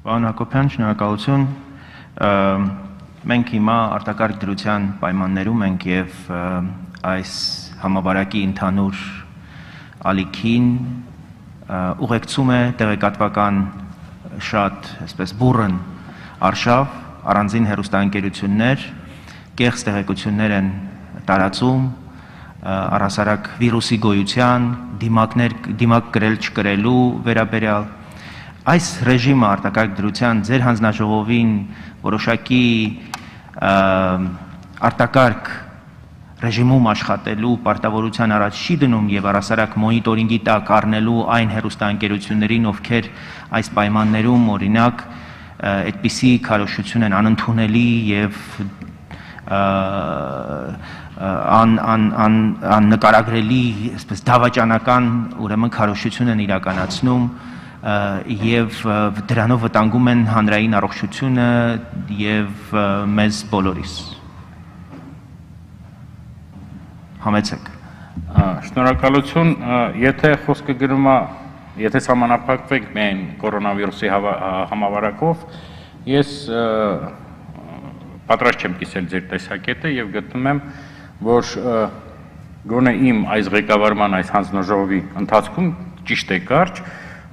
Պարոն Հակոբյան, շնորհակալություն։ Մենք հիմա արտակարգ դրության պայմաններում ենք եւ այս համավարակի ընդհանուր ալիքին ուղեկցում է տեղեկատվական շատ, այսպես բուրըն արշավ, առանձին հեռուստաընկերություններ, կեղծ տեղեկություններ են տարածում առհասարակ վիրուսի գոյության, դիմակ կրել չկրելու վերաբերյալ։ Այս ռեժիմը արտակարգ դրության ձեր հանձնաժողովին որոշակի արտակարգ ռեժիմում աշխատելու պարտավորության առաջ չի դնում եւ առհասարակ մոնիտորինգի տակ առնելու այն հեռուստաընկերություններին, ովքեր այս պայմաններում օրինակ այդպիսի քարոզություն են անընդունելի եւ աննկարագրելի, այսպես դավաճանական ուրեմն քարոզություն են իրականացնում եւ դրանով վտանգում են հանրային առողջությունը եւ մեզ բոլորիս։ Համեցեք։ Շնորհակալություն, եթե խոսքը գնում է, եթե սահմանափակվենք միայն կորոնավիրուսի համավարակով, ես պատրաստ չեմ կիսել ձեր տեսակետը եւ գտնում եմ, որ գոնե իմ այս ղեկավարման այս հանձնաժողովի ընթացքում ճիշտ է կարճ,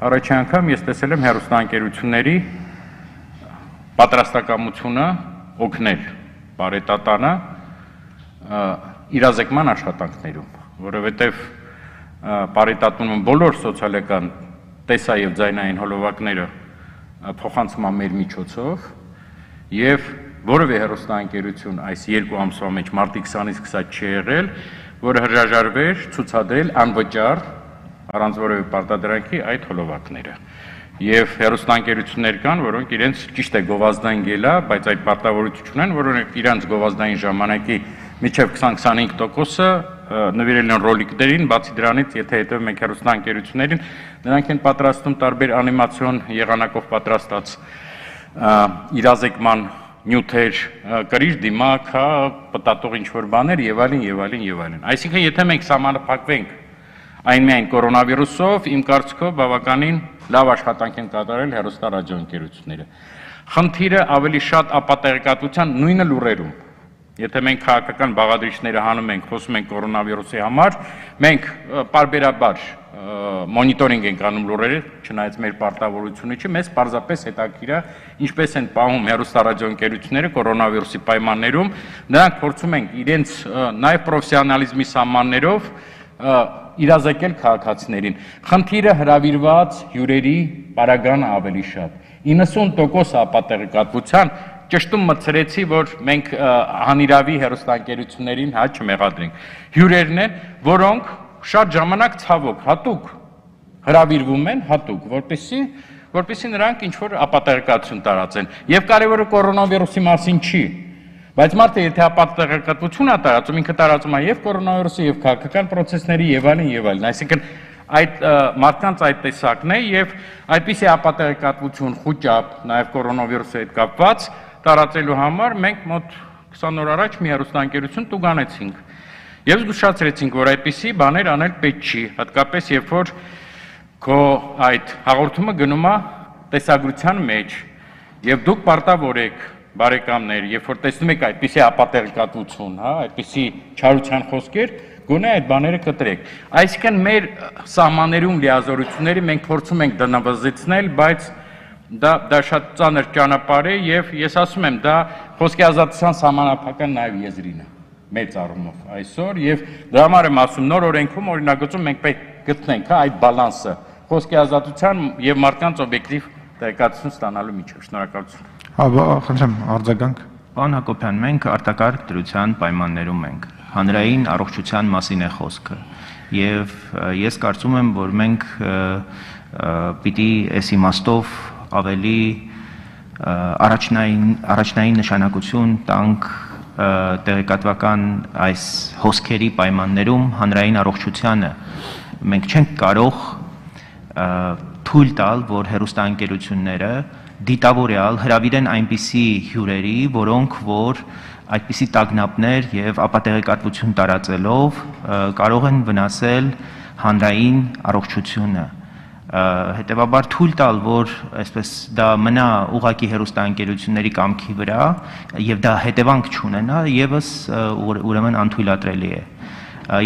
առաջին անգամ ես տեսել եմ հեռուստաընկերությունների պատրաստակամությունը օգնել բարետատանը իրազեկման աշխատանքներում, որովհետև բարետատում բոլոր սոցիալական տեսա եւ ձայնային հոլովակները փոխանցում են մեր միջոցով եւ որևէ հեռուստաընկերություն այս 2 ամսվա մեջ մարտի 20-ից 20 չի եղել, որը հրաժարվեր ցուցադրել անվճար առանց որևէ պարտադրանքի այդ հոլովակները։ Եվ հեռուստաընկերություններ կան, որոնք իրենց ճիշտ է գովազդային գելա, բայց այդ պարտավորություն չունեն, որոնք իրենց գովազդային ժամանակի միջև 20-25%-ը նվիրել են ռոլիկներին, բացի դրանից, եթե հետևում ենք հեռուստաընկերություններին, նրանք են պատրաստում տարբեր անիմացիոն եղանակով պատրաստած իրազեկման նյութեր, կրիչ դիմակ, պտտող ինչ-որ բաներ եւ այլն եւ այլն եւ այլն։ Այսինքն, եթե մենք սահմանափակվենք այն միայն կորոնավիրուսով, իմ կարծիքով բավականին լավ աշխատանք են կատարել հեռուստարադիոընկերությունները։ Խնդիրը ավելի շատ ապատեղեկատվության նույնը լուրերում։ Եթե մենք քաղաքական բաղադրիչները հանում ենք, խոսում ենք կորոնավիրուսի համար, մենք պարբերաբար մոնիտորինգ ենք անում լուրերը, չնայած մեր պարտավորությունը չի, մեզ պարզապես հետաքրքիր է ինչպես են պահում հեռուստարադիոընկերությունները կորոնավիրուսի պայմաններում, նրանք փորձում են իրենց նաև պրոֆեսիոնալիզմի սահմաններով իրազեկել քաղաքացիներին։ Խնդիրը հրավիրված հյուրերի պարագանը ավելի շատ։ 90% ապատեղեկատվության ճշտում մտցրեցի, որ մենք հանիրավի հեռուստաընկերություններին չմեղադրենք։ Հյուրերն են, որոնք շատ ժամանակ ցավոք հատուկ հրավիրվում են, հատուկ, որպեսզի նրանք ինչ-որ ապատեղեկատվություն տարածեն։ Եվ կարևորը կորոնավիրուսի մասին չի, բայց մարդը եթե ապատեղեկատվություն է տարածում, ինքը տարածում է եւ կորոնավիրուսի, եւ քաղաքական process-ների եւ այլն, այսինքն այդ մարդկանց այդ տեսակն է եւ այդպիսի ապատեղեկատվություն խոճապ, նաեւ կորոնավիրուսի հետ կապված տարածելու համար մենք մոտ 20 օր առաջ մի հեռուստաընկերություն տուգանեցինք։ Եվ զգուշացրեցինք, որ այդպիսի բաներ անել պետք չի, հատկապես երբ որ քո այդ հաղորդումը գնում է տեսագրության մեջ, եւ դուք պարտավոր եք, բարեկամներ, երբ որ տեսնում եք այդպիսի ապատեղեկատվություն, այդպիսի չարության խոսքեր, գոնե այդ բաները կտրեք։ Այսինքն մեր սահմաններում լիազորությունները մենք փորձում ենք դնավազեցնել, բայց դա շատ ծանր ճանապարհ է եւ ես ասում եմ, դա խոսքի ազատության սահմանափակական նաեւ եզրին է մեծ առումով այսօր եւ դրա համար եմ ասում նոր օրենքում օրինագծում մենք պետք գտնենք այդ բալանսը խոսքի ազատության եւ մարդկանց օբյեկտիվ տեղեկատվություն ստանալու միջեւ։ Շնորհակալություն։ Խնդրեմ արձագանք։ Պարոն Հակոբյան, մենք արտակարգ դրության պայմաններում ենք։ Հանրային առողջության մասին է խոսքը եւ ես կարծում եմ, որ մենք պիտի այս իմաստով ավելի առաջնային նշանակություն տանք տեղեկատվական այս հոսքերի պայմաններում հանրային առողջությանը։ Մենք չենք կարող թույլ տալ, որ հեռուստաընկերությունները դիտավորյալ հրավիրեն այնպիսի հյուրերի, որոնք որ այդպիսի տագնապներ եւ ապատեղեկատվություն տարածելով կարող են վնասել հանրային առողջությունը։ հետևաբար թույլ տալ, որ այսպես դա մնա ուղակի հեռուստաընկերությունների կամքի վրա եւ դա հետևանք չունենա, եւս ուրեմն անթույլատրելի է։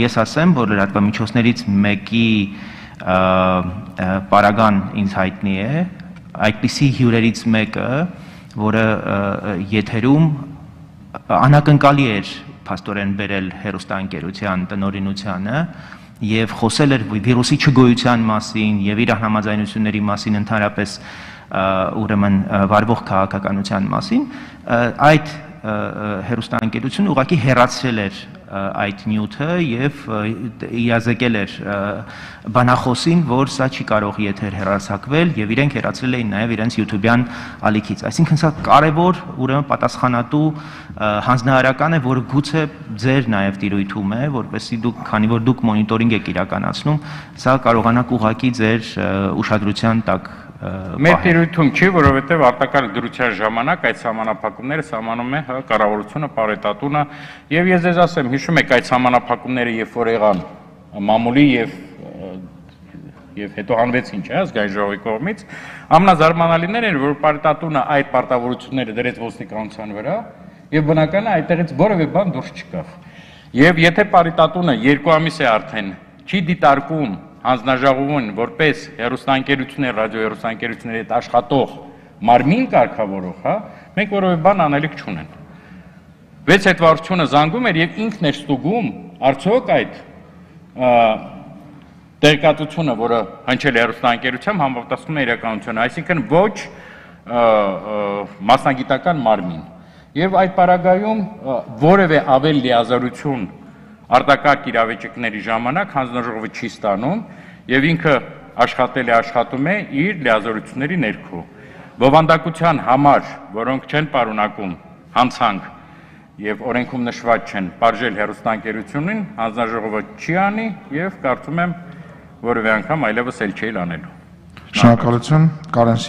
Ես ասեմ, որ լրատվամիջոցներից մեկի պարագան ինձ հայտնի է, այդպիսի հյուրերից մեկը, որը եթերում անակնկալի էր փաստորեն բերել հեռուստաընկերության տնօրինությանը եւ խոսել էր վիրուսի չգոյության մասին եւ իր համաձայնությունների մասին ընդհանրապես ուրեմն վարվող քաղաքականության մասին, այդ հեռուստաընկերությունը ուղղակի հեռացրել էր այդ նյութը եւ իրազեկել էր բանախոսին, որ սա չի կարող եթեր հեռարձակվել եւ իրենք հեռացրել էին նաեւ իրենց YouTube-յան ալիքից։ Այսինքն սա կարեւոր, ուրեմն պատասխանատու հանձնարարական է, որը գուցե ձեր նաեւ տիրույթում է, որպեսզի դուք, քանի որ դուք մոնիտորինգ եք իրականացնում, սա կարողանաք ուղղակի ձեր ուշադրության տակ Մեր տիրույթում չի, որովհետև արտակարգ դրության ժամանակ այդ սահմանափակումները սահմանում է կառավարությունը, պարետատունը, եւ ես ձեզ ասեմ, հիշում եք այդ սահմանափակումները, երբ որ եղան մամուլի եւ հետո հանվեցին, չէ՞, ազգային ժողովի կողմից, ամենազարմանալիներն էր, որ պարետատունը այդ պարտավորությունները դրեց ոստիկանության վրա եւ բնական է այդտեղից որևէ բան դուրս չկավ։ Եվ եթե պարետատունը 2 ամիս է արդեն չի դիտարկում հանձնաժողովին որպես հեռուստաընկերություններ, ռադիոհեռուստաընկերությունների հետ աշխատող մարմին կարգավորող, հա, մենք որևէ բան անելիք չունեն։ 6 հետվարությունը զանգում էր եւ ինքն էր ստուգում արդյոք այդ տեղեկատվությունը, որը հնչել է հեռուստաընկերությամբ, համապատասխանում է իրականությանը, այսինքն ոչ մասնագիտական մարմին։ Եվ այդ պարագայում որևէ ավել լիազորություն արտակարգ իրավիճակների ժամանակ հանձնաժողովը չի ստանում եւ ինքը աշխատում է իր լիազորությունների ներքո։ Բովանդակության համար, որոնք չեն պարունակում հանցանք եւ օրենքում նշված չեն, բաժել հեռուստաընկերությունին, հանձնաժողովը չի անի եւ կարծում եմ որևէ անգամ այլևս էլ չի անելու։ Շնորհակալություն, Կարեն